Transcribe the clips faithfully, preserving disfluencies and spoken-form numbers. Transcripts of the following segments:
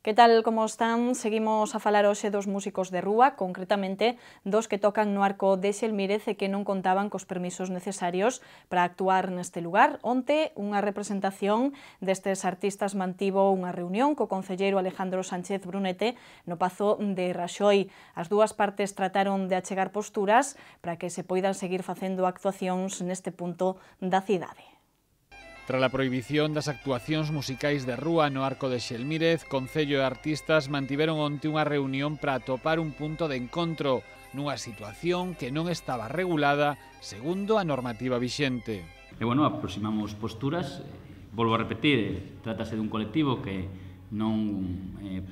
Que tal como están? Seguimos a falar hoxe dos músicos de rúa, concretamente dos que tocan no Arco de Xelmírez e que non contaban cos permisos necesarios para actuar neste lugar. Onte, unha representación destes artistas mantivo unha reunión co concelleiro Alejandro Sánchez Brunete no Pazo de Raxoi. As dúas partes trataron de achegar posturas para que se poidan seguir facendo actuacións neste punto da cidade. Tras a prohibición das actuacións musicais de rúa no Arco de Xelmírez, Concello e artistas mantiveron onte unha reunión para atopar un punto de encontro nunha situación que non estaba regulada segundo a normativa vixente. E, bueno, aproximamos posturas, eh, volvo a repetir, eh, trátase dun colectivo que non eh,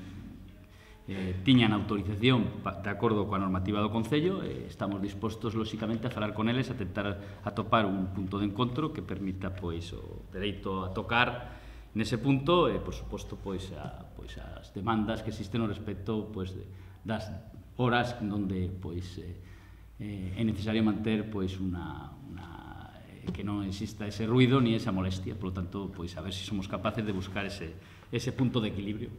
eh, tiñan autorización de acordo coa normativa do Concello, e estamos dispostos, lóxicamente, a falar con eles, a tentar atopar un punto de encontro que permita, pois, o dereito a tocar nese punto e, por suposto, pois, a, pois, as demandas que existen no respecto, pois, de, das horas onde, pois, eh, é necesario manter, pois, unha, unha, eh, que non exista ese ruido ni esa molestia. Por lo tanto, pois, a ver se somos capaces de buscar ese, ese punto de equilibrio.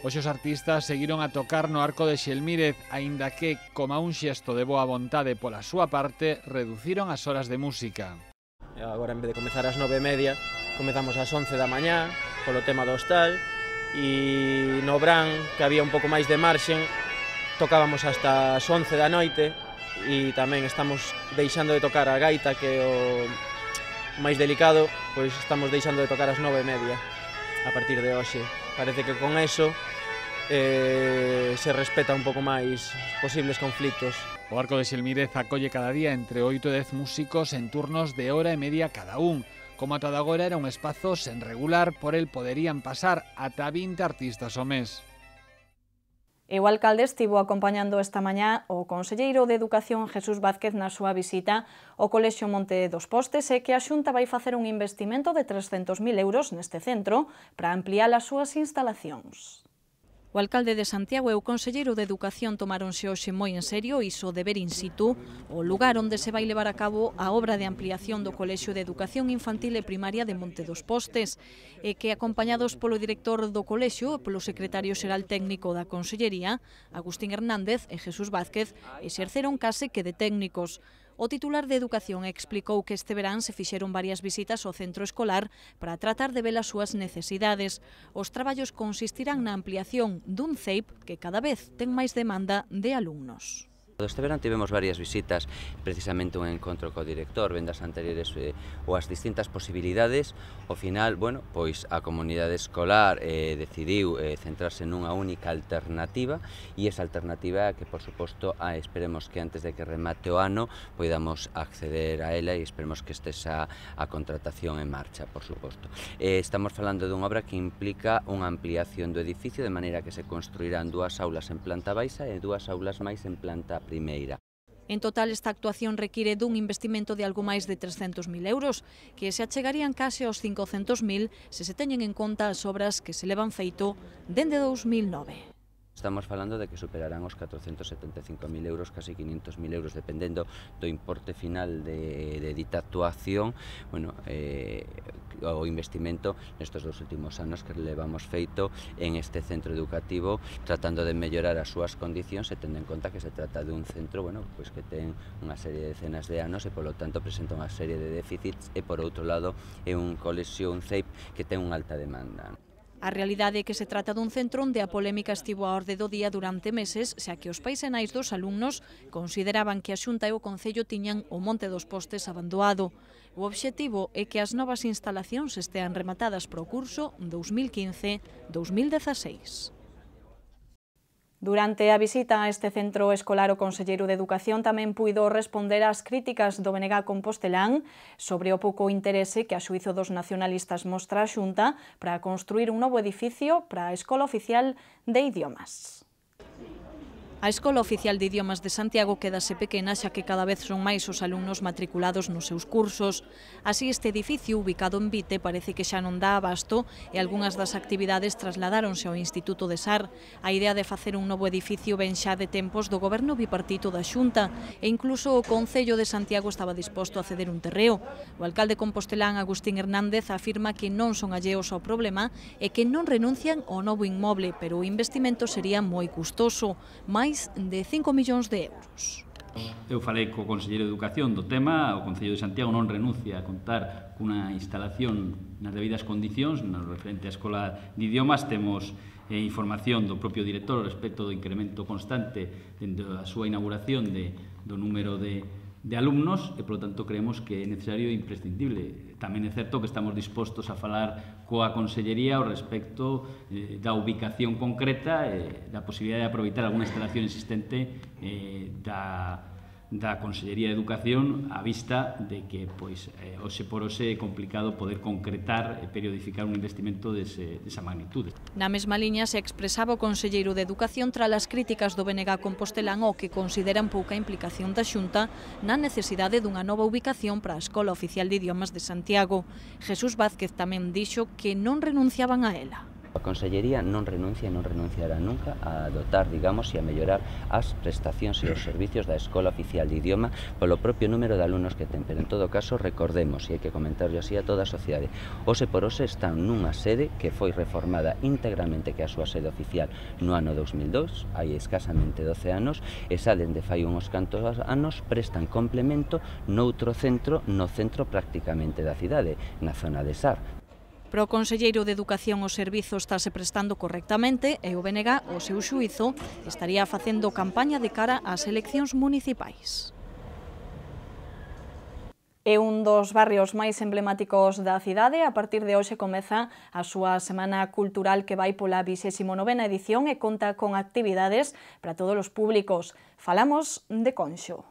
Hoxe os artistas seguiron a tocar no Arco de Xelmírez, aínda que, como un xesto de boa vontade pola súa parte, reduciron as horas de música. Agora, en vez de comezar ás nove e media, comezamos ás once da mañá, polo tema do hostal, e no Bran, que había un pouco máis de marxen, tocábamos hasta as once da noite, e tamén estamos deixando de tocar a gaita, que é o máis delicado, pois estamos deixando de tocar ás nove e media a partir de hoxe. Parece que con eso eh, se respeta un pouco máis os posibles conflitos. O Arco de Xelmírez acolle cada día entre oito e dez músicos en turnos de hora e media cada un. Como ata agora era un espazo sen regular, por el poderían pasar ata vinte artistas ao mes. E o alcalde estivo acompañando esta mañá o conselleiro de Educación Jesús Vázquez na súa visita ao Colexio Monte dos Postes e que a Xunta vai facer un investimento de trescentos mil euros neste centro para ampliar as súas instalacións. O alcalde de Santiago e o conselleiro de Educación tomáronse hoxe moi en serio iso de ver in situ o lugar onde se vai levar a cabo a obra de ampliación do Colexio de Educación Infantil e Primaria de Monte dos Postes e que, acompañados polo director do colexio e polo secretario xeral técnico da Consellería, Agustín Hernández e Jesús Vázquez, exerceron case que de técnicos. O titular de Educación explicou que este verán se fixeron varias visitas ao centro escolar para tratar de ver as súas necesidades. Os traballos consistirán na ampliación dun C E I P que cada vez ten máis demanda de alumnos. Este verán tivemos varias visitas, precisamente un encontro co director, vendas anteriores eh, ou as distintas posibilidades. Ao final, bueno, pois a comunidade escolar eh, decidiu eh, centrarse nunha única alternativa e esa alternativa que, por suposto, ah, esperemos que antes de que remate o ano poidamos acceder a ela e esperemos que estes a, a contratación en marcha, por suposto. Eh, estamos falando dunha obra que implica unha ampliación do edificio de maneira que se construirán dúas aulas en planta baixa e dúas aulas máis en planta primeira. En total, esta actuación require dun investimento de algo máis de trescentos mil euros, que se achegarían case aos cincocentos mil se se teñen en conta as obras que se levan feito dende dous mil nove. Estamos falando de que superarán os catrocentos setenta e cinco mil euros, casi quinhentos mil euros, dependendo do importe final de, de dita actuación. Bueno, eh, o investimento nestes dos últimos anos que levamos feito en este centro educativo, tratando de mellorar as súas condicións e tendo en conta que se trata de un centro, bueno, pois que ten unha serie de decenas de anos e, polo tanto, presenta unha serie de déficits e, por outro lado, é un colexio, un C E I P, que ten unha alta demanda. A realidade é que se trata dun centro onde a polémica estivo á orde do día durante meses, xa que os pais e nais dos alumnos consideraban que a Xunta e o Concello tiñan o Monte dos Postes abandoado. O obxectivo é que as novas instalacións estean rematadas para o curso dous mil quince dous mil dezaseis. Durante a visita a este centro escolar, o conselleiro de Educación tamén puido responder ás críticas do B N G compostelán sobre o pouco interese que a xuízo dos nacionalistas mostra a Xunta para construir un novo edificio para a Escola Oficial de Idiomas. A Escola Oficial de Idiomas de Santiago quedase pequena xa que cada vez son máis os alumnos matriculados nos seus cursos. Así, este edificio, ubicado en Vite, parece que xa non dá abasto e algunhas das actividades trasladáronse ao Instituto de Sar. A idea de facer un novo edificio ven xa de tempos do goberno bipartito da Xunta e incluso o Concello de Santiago estaba disposto a ceder un terreo. O alcalde compostelán Agustín Hernández afirma que non son alleos ao problema e que non renuncian ao novo inmoble, pero o investimento sería moi custoso, máis de cinco millóns de euros. Eu falei co Conselleiro de Educación do tema, o Concello de Santiago non renuncia a contar cunha instalación nas debidas condicións, no referente á Escola de Idiomas. Temos eh, información do propio director respecto do incremento constante dende a súa inauguración de, do número de de alumnos e, polo tanto, creemos que é necesario e imprescindible. Tamén é certo que estamos dispostos a falar coa Consellería ao respecto eh, da ubicación concreta e da posibilidade de aproveitar alguna instalación existente eh, da, da Consellería de Educación a vista de que, pois, eh, hoxe por hoxe é complicado poder concretar e periodificar un investimento dese, desa magnitude. Na mesma liña se expresaba o Conselleiro de Educación tras as críticas do B N G compostelán ao que consideran pouca implicación da Xunta na necesidade dunha nova ubicación para a Escola Oficial de Idiomas de Santiago. Jesús Vázquez tamén dixo que non renunciaban a ela. A Consellería non renuncia e non renunciará nunca a dotar, digamos, e a mellorar as prestacións e os servicios da Escola Oficial de Idioma polo propio número de alumnos que ten. Pero, en todo caso, recordemos, e hai que comentarlo así a toda a sociedade, hoxe por hoxe están nunha sede que foi reformada íntegramente, que é a súa sede oficial, no ano dos mil dous, hai escasamente doce anos, e xa dende fai uns cantos anos prestan complemento noutro centro, no centro prácticamente da cidade, na zona de Sar. Para o Conselleiro de Educación o servizo estáse prestando correctamente e o B N G, o seu xuízo, estaría facendo campaña de cara ás eleccións municipais. É un dos barrios máis emblemáticos da cidade. A partir de hoxe comeza a súa semana cultural que vai pola vixésima novena edición e conta con actividades para todos os públicos. Falamos de Conxo.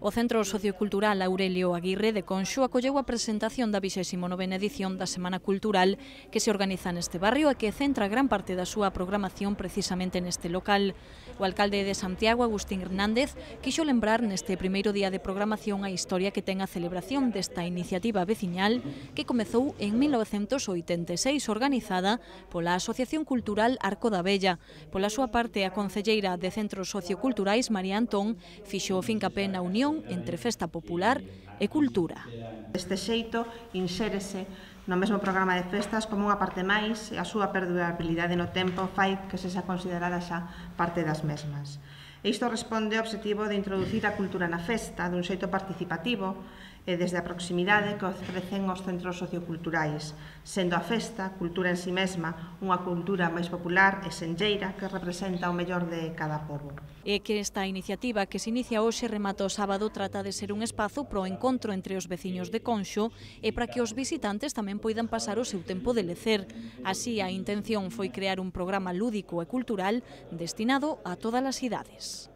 O Centro Sociocultural Aurelio Aguirre de Conxo acolleu a presentación da vixésima novena edición da Semana Cultural que se organiza neste barrio e que centra gran parte da súa programación precisamente neste local. O alcalde de Santiago, Agustín Hernández, quixo lembrar neste primeiro día de programación a historia que ten a celebración desta iniciativa veciñal que comezou en mil novecentos oitenta e seis, organizada pola Asociación Cultural Arco da Vella. Pola súa parte, a concelleira de Centros Socioculturais, María Antón, fixo fincapé na unión entre festa popular e cultura. Deste xeito, insérese no mesmo programa de festas como unha parte máis e a súa perdurabilidade no tempo fai que se xa considerada xa parte das mesmas. E isto responde ao obxectivo de introducir a cultura na festa dun xeito participativo e desde a proximidade que ofrecen os centros socioculturais, sendo a festa, cultura en si mesma, unha cultura máis popular e senlleira que representa o mellor de cada pobo. E que esta iniciativa que se inicia hoxe remata o sábado trata de ser un espazo pro encontro entre os veciños de Conxo e para que os visitantes tamén poidan pasar o seu tempo de lecer. Así, a intención foi crear un programa lúdico e cultural destinado a todas as idades.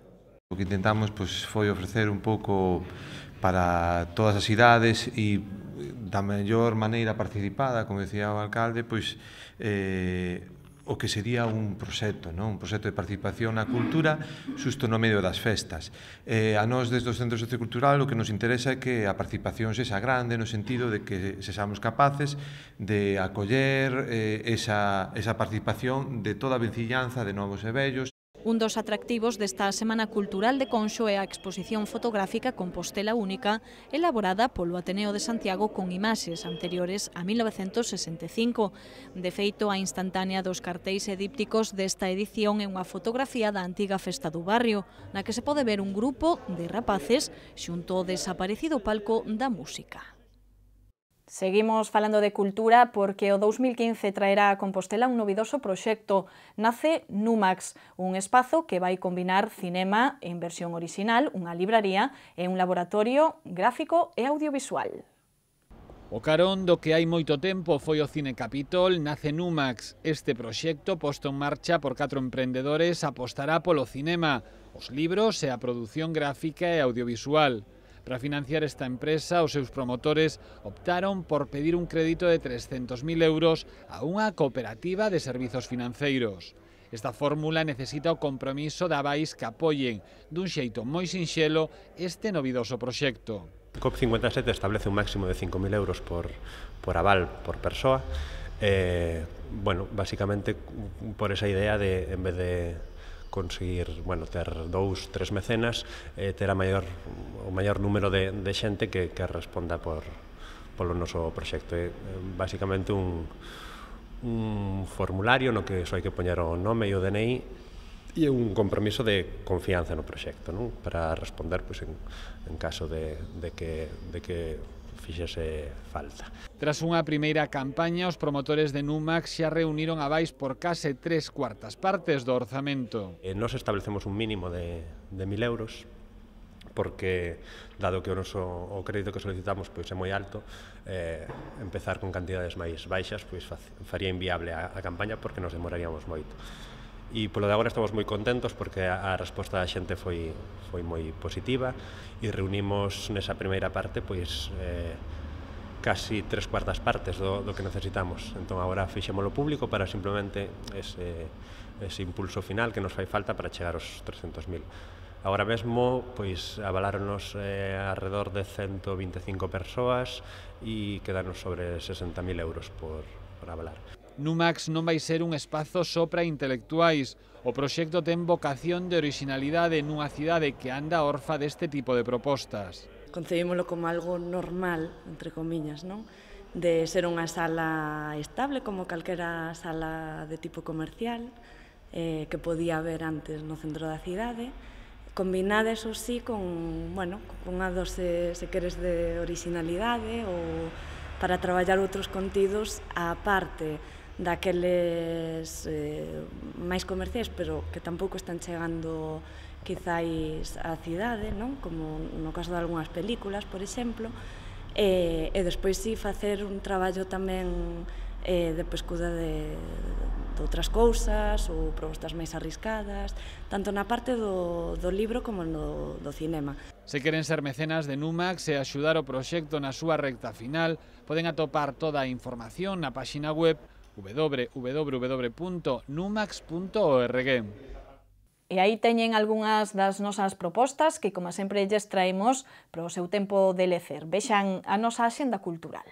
O que intentamos pois, foi ofrecer un pouco para todas as idades e da mellor maneira participada, como decía o alcalde, pois eh, o que sería un proxecto, non? Un proxecto de participación na cultura xusto no medio das festas. Eh, a nós, desde o Centro Sociocultural, o que nos interesa é que a participación sexa grande no sentido de que sexamos capaces de acoller eh, esa, esa participación de toda a vecinanza, de novos e vellos. Un dos atractivos desta Semana Cultural de Conxo é a exposición fotográfica Compostela Única, elaborada polo Ateneo de Santiago con imaxes anteriores a mil novecentos sesenta e cinco. De feito, a instantánea dos cartéis e dípticos desta edición é unha fotografía da antiga festa do barrio, na que se pode ver un grupo de rapaces xunto ao desaparecido palco da música. Seguimos falando de cultura porque o dous mil quince traerá a Compostela un novidoso proxecto. Nace Numax, un espazo que vai combinar cinema en versión orixinal, unha libraría e un laboratorio gráfico e audiovisual. O carón do que hai moito tempo foi o Cine Capitol, nace Numax. Este proxecto, posto en marcha por catro emprendedores, apostará polo cinema, os libros e a produción gráfica e audiovisual. Para financiar esta empresa, os seus promotores optaron por pedir un crédito de trescentos mil euros a unha cooperativa de servizos financeiros. Esta fórmula necesita o compromiso da Avais que apoien dun xeito moi sinxelo este novidoso proxecto. COP cincuenta e sete establece un máximo de cinco mil euros por, por aval por persoa. Eh, bueno, básicamente por esa idea de, en vez de conseguir, bueno, ter dous, tres mecenas, eh, ter a maior, o maior número de, de xente que, que responda por, polo noso proxecto. É basicamente un, un formulario no que só hai que poñer o nome e o D N I e un compromiso de confianza no proxecto, non? Para responder pois, en, en caso de, de que, de que fixese falta. Tras unha primeira campaña, os promotores de Numax xa reuniron Avais por case tres cuartas partes do orzamento. Eh, nos establecemos un mínimo de, de mil euros, porque, dado que o noso o crédito que solicitamos pois, é moi alto, eh, empezar con cantidades máis baixas pois, faría inviable a, a campaña porque nos demoraríamos moito. E polo de agora estamos moi contentos porque a, a resposta da xente foi, foi moi positiva e reunimos nesa primeira parte pois, eh, casi tres cuartas partes do, do que necesitamos. Entón agora fixémolo público para simplemente ese, ese impulso final que nos fai falta para chegar aos trescentos mil. Agora mesmo, pois, avaláronos eh, alrededor de ciento vinte e cinco persoas e quedanos sobre sesenta mil euros por, por avalar. Numax non vai ser un espazo só para intelectuais. O proxecto ten vocación de orixinalidade nunha cidade que anda orfa deste tipo de propostas. Concebímolo como algo normal, entre comillas, non? De ser unha sala estable como calquera sala de tipo comercial eh, que podía haber antes no centro da cidade, combinada, eso sí, con, bueno, con unha dose, se queres, de orixinalidade ou para traballar outros contidos á parte daqueles eh, máis comerciais, pero que tampouco están chegando quizáis á cidade, non? Como no caso de algunhas películas, por exemplo, e, e despois sí facer un traballo tamén eh, de pescuda de, de outras cousas ou propostas máis arriscadas, tanto na parte do, do libro como no do cinema. Se queren ser mecenas de Numax e axudar o proxecto na súa recta final, poden atopar toda a información na páxina web w w w punto numax punto org. E aí teñen algunhas das nosas propostas que, como sempre, lles traemos para o seu tempo de lecer. Vexan a nosa axenda cultural.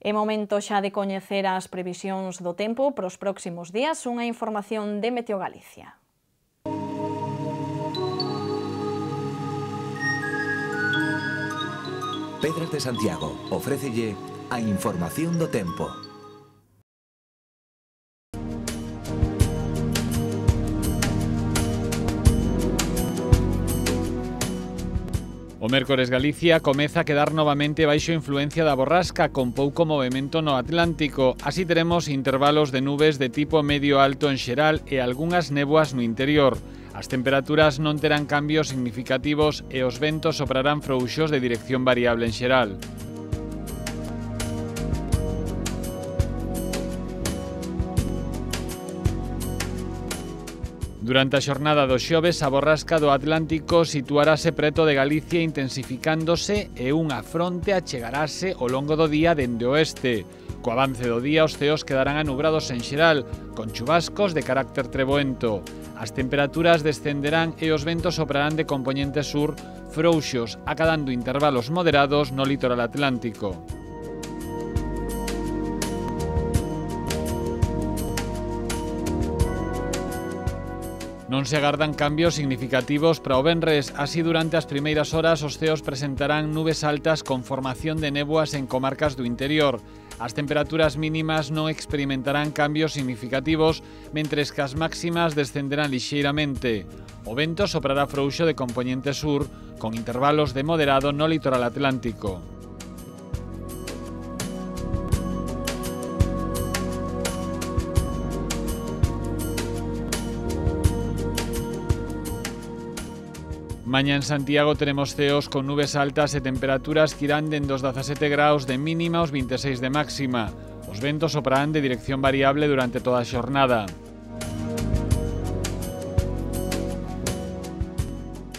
É momento xa de coñecer as previsións do tempo para os próximos días, unha información de Meteo Galicia. Pedras de Santiago ofrécelle a información do tempo. O mércores Galicia comeza a quedar novamente baixo influencia da borrasca con pouco movimento no Atlántico. Así teremos intervalos de nubes de tipo medio alto en xeral e algunhas néboas no interior. As temperaturas non terán cambios significativos e os ventos soprarán frouxos de dirección variable en xeral. Durante a xornada do xoves, a borrasca do Atlántico situarase preto de Galicia intensificándose e unha fronte achegarase ao longo do día dende o oeste. Co avance do día, os ceos quedarán anubrados en xeral, con chubascos de carácter treboento. As temperaturas descenderán e os ventos soprarán de compoñente sur frouxos, acadando intervalos moderados no litoral atlántico. No Non se agardan cambios significativos para o venres, así durante as primeiras horas os ceos presentarán nubes altas con formación de néboas en comarcas do interior. As temperaturas mínimas non experimentarán cambios significativos, mentres que as máximas descenderán lixeiramente. O vento soprará frouxo de compoñente sur, con intervalos de moderado no litoral atlántico. Mañá en Santiago teremos ceos con nubes altas e temperaturas que irán dende os dezasete graus de mínima aos vinte e seis de máxima. Os ventos soprarán de dirección variable durante toda a xornada.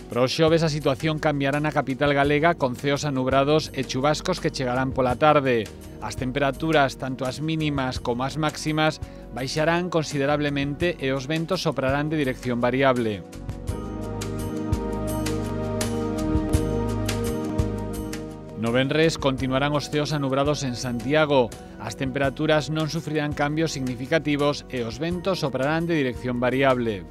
Para o xoves a situación cambiará na capital galega con ceos anubrados e chubascos que chegarán pola tarde. As temperaturas, tanto as mínimas como as máximas, baixarán considerablemente e os ventos soprarán de dirección variable. No venres continuarán os ceos anubrados en Santiago. As temperaturas non sufrirán cambios significativos e os ventos soprarán de dirección variable.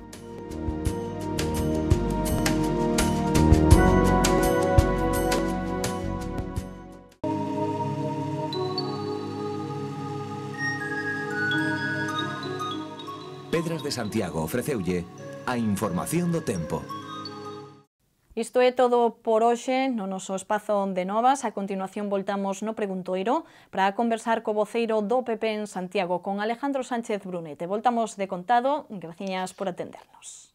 Pedras de Santiago ofreceulle a información do tempo. Isto é todo por hoxe no noso espazo de novas. A continuación voltamos no Preguntoiro para conversar co voceiro do P P en Santiago, con Alejandro Sánchez Brunete. Voltamos de contado. Graciñas por atendernos.